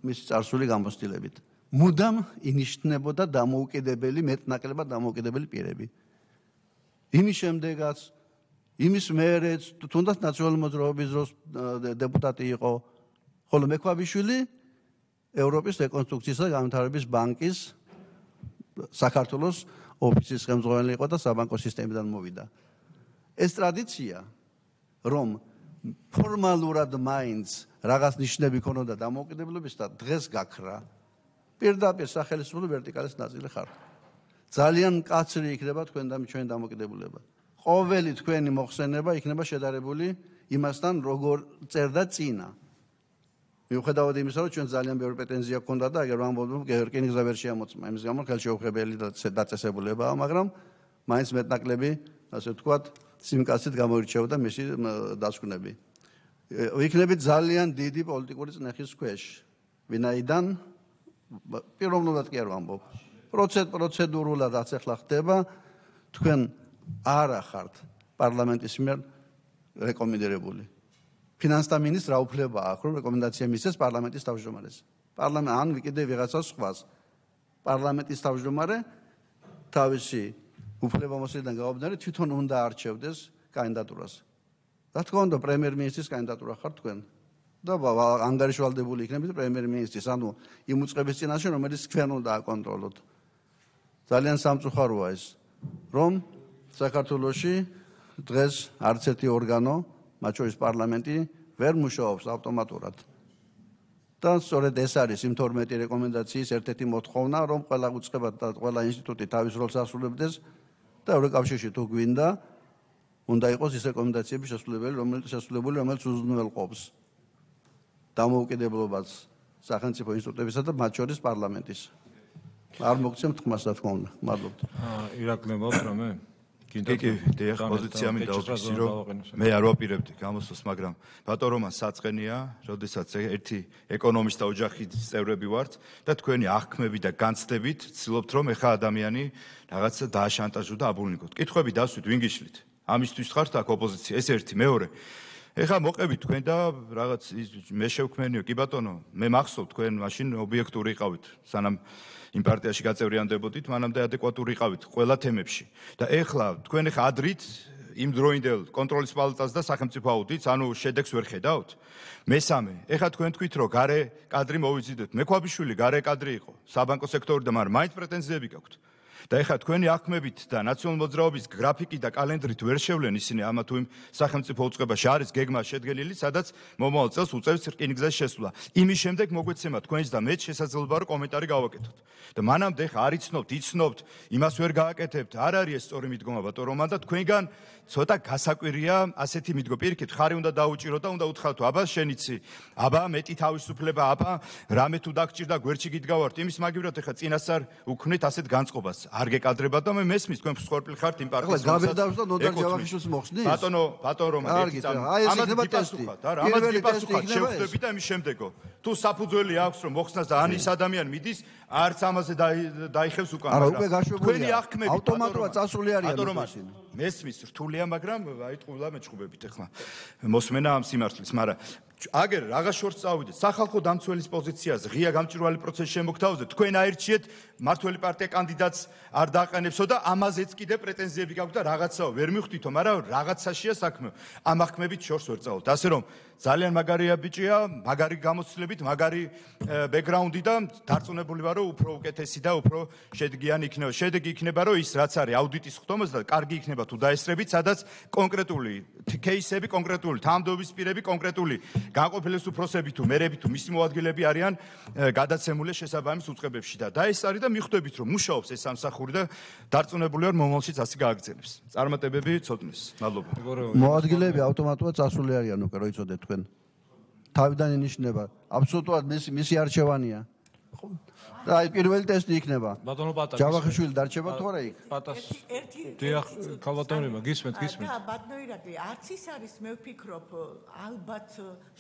მისი წარსული გამოცდილებით. მუდამ ინიშნებოდა დამოუკიდებელი, მეტნაკლებად დამოუკიდებელი პირები. იმის შემდეგაც, იმის მერეც, თუნდაც ნაციონალური მოძრაობის დროს დეპუტატი იყო, ხოლო მექვაბიშვილი ევროპის რეკონსტრუქციისა და განვითარების ბანკის საქართველოს ოფისის ხელმძღვანელი იყო და საბანკო სისტემიდან მოვიდა. ეს ტრადიცია, რომ ფორმალურად მაინც რაღაც ნიშნები ქონოდა დამოუკიდებლობის და დღეს გაქრა, პირდაპირ სახელმწიფო ვერტიკალის ნაწილი ხართ. ძალიან მკაცრი იქნება თქვენ და ჩვენი დამოუკიდებლობა. ყოველი თქვენი მოხსენება იქნება შედარებული იმასთან, როგორ წერდა წინა. მიუხედავად იმისა, რომ ჩვენ ძალიან ბევრი პრეტენზია გქონდა და აგერ ვამბობთ, რკინიგზა ვერ შეამოწმა. იმის გამო ხელშეუხებელი დაწესებულებაა, მაგრამ მაინც მეტნაკლები, ასე ვთქვათ, სიმკაცით გამოირჩეოდა მისი დასკვნები. იქნებით ძალიან დიდი პოლიტიკური წნეხის ქვეშ, ვინაიდან პიროვნულად კი არ ვამბობ. პროცედურულად რაც ახლა ხდება, თქვენ არ ახართ პარლამენტის მიერ რეკომენდირებული. ფინანსთა მინისტრს რა უფლება აქვს, რომ რეკომენდაცია მისცეს პარლამენტის თავმჯდომარეს. პარლამენტ ან კიდევ ვიღაცას სხვას. პარლამენტის თავმჯდომარე თავისი უფლებამოსილიდან გამომდინარე თვითონ უნდა არჩევდეს კანდიდატურას. რა თქმა უნდა, პრემიერ-მინისტრის კანდიდატურა ხარ თქვენ. და ანგარიშვალდებული იქნებით პრემიერ-მინისტრის, ანუ იმ უწყების წინაშე, რომელიც თქვენ უნდა აკონტროლოთ. ძალიან სამწუხაროა ეს, რომ საქართველოში დღეს არც ერთი ორგანო, მათ შორის პარლამენტი, ვერ მუშაობს ავტომატურად. და სწორედ ეს არის იმ თორმეტი რეკომენდაციის ერთ-ერთი მოთხოვნა, რომ ყველა უწყება და ყველა ინსტიტუტი თავის როლს ასრულებდეს და ევროკავშირში თუ გვინდა, უნდა იყოს ის რეკომენდაციები შესრულებული, რომელიც შესრულებული, რომელიც უზრუნველყოფს დამოუკიდებლობას სახელმწიფო ინსტიტუტებისა და მათ შორის პარლამენტის. არ მოგცემთ ხმას, რა თქმა უნდა. მადლობთ. ირაკლი მოგთ რამე? კი, კი, დიახ, პოზიცია მინდა ვფიქსი, რომ მე არ ვაპირებდი გამოსვლას, მაგრამ ბატონ რომან საწყენია, როდესაც ერთი ეკონომისტთა ოჯახის წევრები ვართ და თქვენი აღქმები და განცდებით ცდილობთ, რომ ეხა ადამიანი რაღაცა დააშანტაჟო და აბულნიკოთ. კითხვები დასვით, ვინ გიშლით? ამისთვის ხართ აქ ოპოზიცია, ეს ერთი, მეორე. ეხა მოყევით თქვენ და რაღაც მე შევქმენიო, კი ბატონო, მე მახსოვთ თქვენ მაშინ ობიექტური იყავით, სანამ იმ პარტიაში გაწევრიანდებოდით, მანამდე ადეკვატური იყავით ყველა თემებში. და ეხლა თქვენ ეხა ადრით იმ დროინდელ კონტროლის პალატას და სახელმწიფო აუდიტს, ანუ შედეგს ვერ ხედავთ. მესამე, ეხლა თქვენ თქვით, რომ გარე კადრი მოვიზიდეთ. მექვაბიშვილი გარე კადრი იყო, საბანკო სექტორიდან, მაგრამ მაინც პრეტენზიები გაქვთ. და ეხლა თქვენი აღქმებით და ნაციონალური მოძრაობის გრაფიკი და კალენდრით ვერ შევლენ ისინი ამა თუ იმ სახელმწიფო უწყებაში არის გეგმა შედგენილი, სადაც მომავალ წელს უწევს რკინიგზის შესვლა. იმის შემდეგ მოგვეცემა თქვენს და მეც შესაძლებლობა რომ კომენტარი გავაკეთოთ. და მანამდე ეხლა არ იცნობთ, იცნობთ, იმას ვერ გააკეთებთ. არ არის ეს სწორი მიდგომა ბატონ რომან და თქვენგან ცოტა გასაკვირია ასეთი მიდგომა. პირიქით, ხარი უნდა დაუჭირო და უნდა უთხრათ, აბა შენიცი, აბა მეტი თავისუფლება, აბა რამე თუ დაგჭირდა გვერდში გიდგავართ. იმის მაგივრად ეხლა წინასწარ უქმნით ასეთ განწყობას. არ გეკადრებათ და მე მესმის თქვენ მსხვერპლი ხართ იმ პარტიის. ახლა გაბედავს და ნოდარ ჯავახიშვილს მოხსნის? ბატონო, ბატონ რომან, ერთი წამი. ამას გიპასუხოთ, არა, ამას გიპასუხოთ, შევხვდები და იმის შემდეგო. თუ საფუძველი აქვს რომ მოხსნას და ან ის ადამიანი მიდის, არც ამაზე დაიხევს უკან. არა, უკვე გაშვებულია. თქვენი აღქმები ავტომატურად წასული არიან ისინი. მესმის რთულია, მაგრამ აი ტყუილა მეჭყობებით ახლა. მოსმენა ამ სიმართლის, მაგრამ აგერ რაღაც შორს წავიდეთ სახალხო დამცველის პოზიციაზე ღია გამჭვირვალე პროცესის შემოგთავაზეთ თქვენ აირჩიეთ მართველი პარტია კანდიდატს არ დააყენებსო და ამაზეც კიდე პრეტენზიები გაქვთ და რაღაცაო ვერ მივხვდითო მაგრამ რაღაცაშია საქმე ამ აღქმებით შორს ვერ წავთ ასე რომ ძალიან მაგარია ბიჭია მაგარი გამოცდილებით მაგარი ბექგრაუნდი და დარწმუნებული ვარ რომ უფრო უკეთესი და უფრო შედგიანი იქნება შედეგი იქნება რომ ის რაც არის აუდიტის ხდომას და კარგი იქნება თუ დაესწრებით სადაც კონკრეტული кейსები კონკრეტული თანამდებობის პირები კონკრეტული განყოფილების უფროსები თუ მერები თუ მისი მოადგილეები არიან გადაცემული შესაბამის უწყებებში და დაესწარი და მიხვდებით რომ მუშაობს ეს სამსახური და დარწმუნებული ვარ მომავალშიც ასე გააგრძელებს. წარმატებები ცოდნის. მადლობა. მოადგილეები ავტომატურად წასული არიან უკვე რო იცოდეთ თქვენ. თავიდან ინიშნება. აბსოლუტურად მისი მისი არჩევანია. და აი პირველი ტესტი იქნება. ბატონო პატაკი. ჯავახიშვილი დარჩება თუ არა იქ? პატას. დიახ, ქალბატონებმა გისმენთ, გისმენთ. და ბატონო ირაკლი, არც ის არის მე ვფიქრობ ალბათ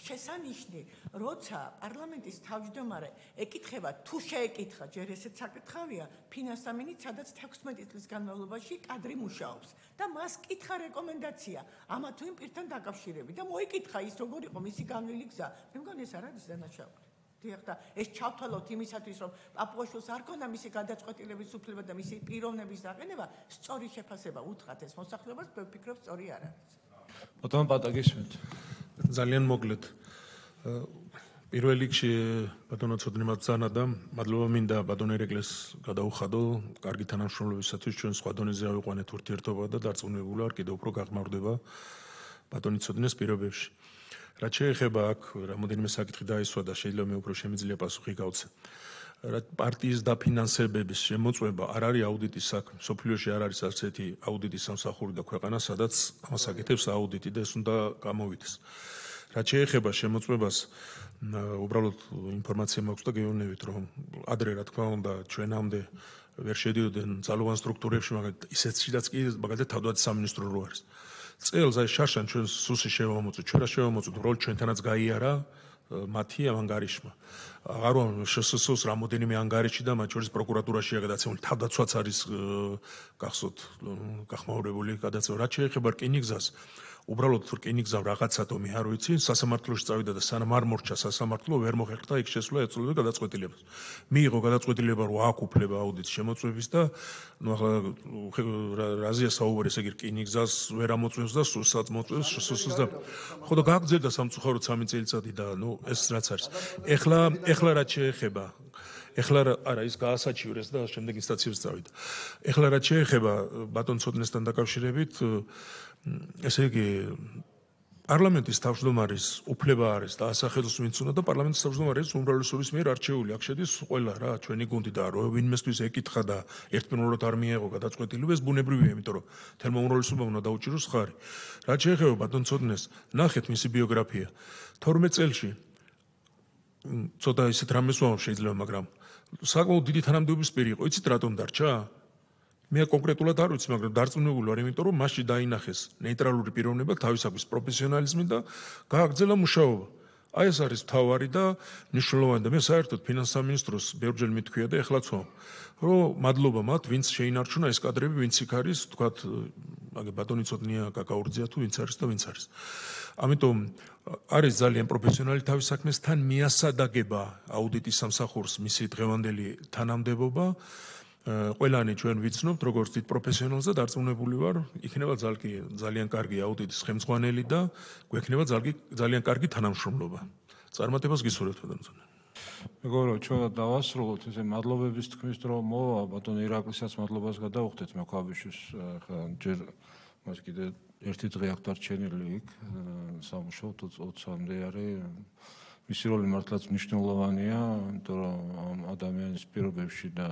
შესანიშნი, როცა პარლამენტის თავმჯდომარე ეკითხება თუ შეეკითხა, ჯერ ესეც საკითხავია, ფინანსამინით, სადაც თექვსმეტი წლის განმავლობაში კადრი მუშაობს და მას კითხა რეკომენდაცია ამა თუ იმ პირთან დაკავშირებით და მოიკითხა ის როგორ იყო მისი განვლილი გზა. მე მგონი ეს არ არის დანაშაული. დიახ და ეს ჩავთვალოთ იმისათვის რომ პაპუაშვილს არ ქონდა მისი გადაწყვეტილების უფლება და მისი პიროვნების დაყენება სწორი შეფასება უთხრათ ეს მოსახლეობას მე ვფიქრობ სწორი არ არის. ბატონო პატაგისმენთ. ძალიან მოგლეთ. პირველ რიგში ბატონო ცოდნე მაბრძანა და მადლობა მინდა ბატონო ირეკლეს გადაუხადო კარგი თანამშრომლობისათვის ჩვენ სხვა დონეზე ავიყვანეთ ურთიერთობა და დარწმუნებული ვარ კიდევ უფრო გაღმავდება ბატონი ცოდნეს პირობებში. რაც შეეხება აქ რამოდენიმე საკითხი დაისვა და შეიძლება მე უფრო შემიძლია პასუხი გავცე. პარტიის დაფინანსებების შემოწმება არ არის აუდიტის საქმე. სოფლიოში არ არის არც ერთი აუდიტის სამსახური და ქვეყანა, სადაც ამას აკეთებს აუდიტი და ეს უნდა გამოვიდეს. რაც შეეხება შემოწმებას, უბრალოდ ინფორმაცია მაქვს და გეუბნებით, რომ ადრე რა თქმა უნდა ჩვენამდე ვერ შედიოდნენ ძალოვან სტრუქტურებში, მაგრამ ისეთშიც კი მაგალითად თავდაცვის სამინისტრო რო არის. წელს აი შარშან ჩვენ სუსი შევამოწოთ, ჩვენ რა შევამოწოთ, უბრალოდ ჩვენთანაც გაიარა მათი ამ ანგარიშმა. აღარ ვარ შსს-ს რამოდენიმე ანგარიში და მათ შორის პროკურატურაშია გადაცემული. თავდაცვაც არის გახსოვთ გახმაურებული გადაცემა. რაც შეეხება რკინიგზას, უბრალოდ რკინიგზა რაღაცათომი არ ვიცი, სასამართლოში წავიდა და სანამ არ მორჩა სასამართლო, ვერ მოხერხდა იქ შესვლა ეწოდება გადაწყვეტილებას. მიიღო გადაწყვეტილება, რომ აქვს უფლება აუდიტის შემოწმების და ნუ ახლა რაზეა საუბარი, ესე იგი რკინიგზას ვერ ამოწმებს და სულსაც მოწმებს, სულსაც და ხო და გაგრძელდა სამწუხაროდ სამი წელიწადი და ნუ ეს რაც არის. ეხლა ეხლა რაც შეეხება ეხლა არა ის გაასაჩივრეს და შემდეგ ინსტანციებს წავიდა. ეხლა რაც შეეხება ბატონ ცოტნესთან დაკავშირებით, ესე იგი პარლამენტის თავმჯდომარის უფლება არის და ასახელოს ვინც უნდა და პარლამენტის თავმჯდომარის უმრავლესობის მიერ არჩეული. აქ შედის ყველა რა, ჩვენი გუნდი და რო ვინმესთვის ეკითხა და ერთპიროვნულად არ მიეღო გადაწყვეტილება, ეს ბუნებრივია, იმიტომ რომ თელმა უმრავლესობამ უნდა დაუჭიროს ხარი. რაც შეეხება ბატონ ცოტნეს, ნახეთ მისი ბიოგრაფია. თორმეტ წელში ცოტა ისეთ რამეს ვამბობ შეიძლება, მაგრამ საკმაოდ დიდი თანამდებობის პირი იყო. იცით რატომ დარჩა? მე კონკრეტულად არ ვიცი, მაგრამ დარწმუნებული ვარ, იმიტომ რომ მასში დაინახეს ნეიტრალური პიროვნება, თავისაგვის პროფესიონალიზმი და გააგრძელა მუშაობა. აი ეს არის თავარი და მნიშვნელოვანი და მე საერთოდ ფინანსთა სამინისტროს ბევრჯერ მithქვია და ეხლაც ვამბობ, რომ მადლობა მათ, ვინც შეინარჩუნა ეს კადრები, ვინც იქ არის, თქვათ, აგე ბატონი ცოტნია, კაკაურძეა თუ ვინც არის და ვინც არის. ამიტომ არის ძალიან პროფესიონალი თავის საქმეს, თან მიასადაგება აუდიტის სამსახურს მისი დღევანდელი თანამდებობა. ყველანი ჩვენ ვიცნობთ, როგორც დიდ პროფესიონალს და დარწმუნებული ვარ, იქნება ძალიან კარგი აუდიტის ხელმძღვანელი და გვექნება ძალიან კარგი თანამშრომლობა. წარმატებას გისურვებთ ბატონო. მეგობრებო, ჩვენ დავასრულოთ ესე მადლობების თქმის დრო მოვა, ბატონ ირაკლისსაც მადლობას გადავხდეთ მექვაბიშვილს, ხა ჯერ მას კიდე ერთი დღე აქვს დარჩენილი იქ სამუშაოდ ოცამდე არის. მისი როლი მართლაც მნიშვნელოვანია, იმიტომ რომ ამ ადამიანის პირობებში და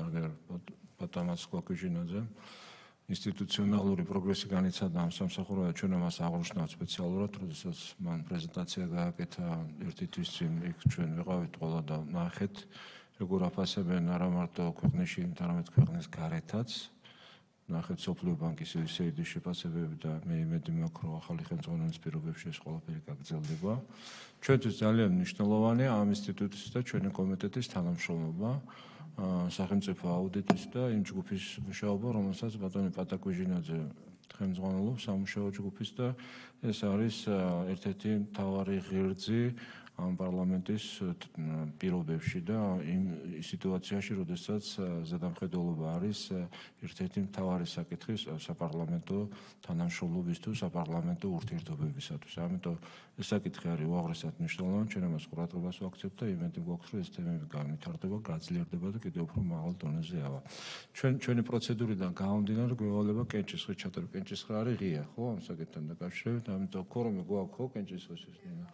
ბატონაც კვაკიჟინაძე ინსტიტუციონალური პროგრესი განიცადა ამ სამსახურში, ჩვენ მას აღნიშნავთ სპეციალურად, როდესაც მან პრეზენტაცია გააკეთა ერთი თვის წინ, იქ ჩვენ ვიყავით ყველა და ნახეთ, როგორ აფასებენ არა მარტო ქვეყნაში, არამედ ქვეყნის გარეთაც. ნახეთ სოფლიო ბანკის ისე დიდი შეფასებები და მე იმედი მაქვს, რომ ახალი ხელმძღვანელის პირობებში ეს ყველაფერი გაგრძელდება. ჩვენთვის ძალიან მნიშვნელოვანია ამ ინსტიტუტის და ჩვენი კომიტეტის თანამშრომლობა, სახელმწიფო აუდიტის და იმ ჯგუფის მუშაობა, რომელსაც ბატონი პატაკუჟინაძე ხელმძღვანელობს, სამუშაო ჯგუფის და ეს არის ერთ-ერთი მთავარი ღერძი ამ პარლამენტის პირობებში და იმ სიტუაციაში, როდესაც ზედამხედველობა არის ერთ-ერთი მთავარი საკითხი საპარლამენტო თანამშრომლობის თუ საპარლამენტო ურთიერთობებისათვის. ამიტომ ეს საკითხი არის უაღრესად მნიშვნელოვანი, ჩვენ ამას ყურადღებას ვაქცევთ და იმედი გვაქვს, რომ ეს თემები განვითარდება, გაძლიერდება და კიდევ უფრო მაღალ დონეზე ავა. ჩვენ ჩვენი პროცედურიდან გამომდინარე გვევალება კენჭისყრის ჩატარება. კენჭისყრა არის ღია, ხო, ამ საკითხთან დაკავშირებით, ამიტომ ქორომი გვაქვს, ხო, კენჭისყრის ეს ნიშნა.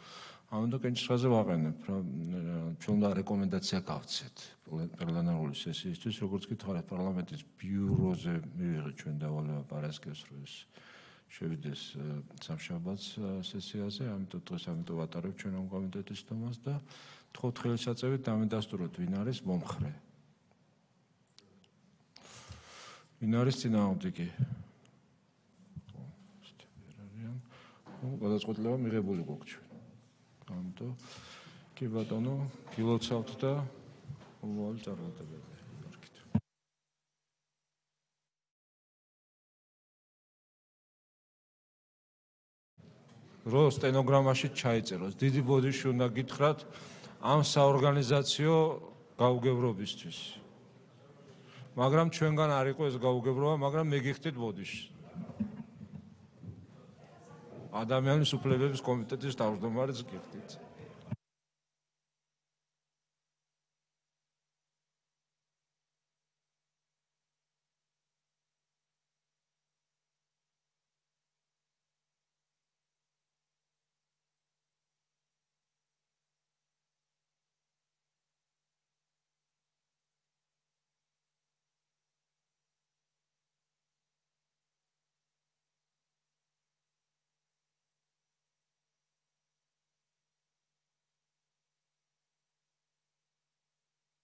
ამიტომ კენჭისყრაზე ვაყენებ, რომ ჩვენ უნდა რეკომენდაცია გავცეთ პლენარული სესიისთვის, როგორც გითხარით, პარლამენტის ბიუროზე მივიღეთ ჩვენ დავალება პარასკევს, რომ ეს შევიდეს სამშაბათს სესიაზე, ამიტომ დღეს ამიტომ ვატარებ ჩვენ ამ კომიტეტის თომას და თხოვთ ხელისაწევით დამედასტუროთ, ვინ არის მომხრე. ვინ არის წინააღმდეგი? გადაწყვეტილება მიღებული გვაქვს ჩვენ. ამიტომ კი ბატონო, გილოცავთ და მომავალი წარმატებები. რო სტენოგრამაში ჩაიწეროს, დიდი ბოდიში უნდა გითხრათ ამ საორგანიზაციო გაუგებრობისთვის. მაგრამ ჩვენგან არ იყო ეს გაუგებრობა, მაგრამ მე გიხდით ბოდიში. ადამიანის უფლებების კომიტეტის თავმჯდომარეს გიხდით.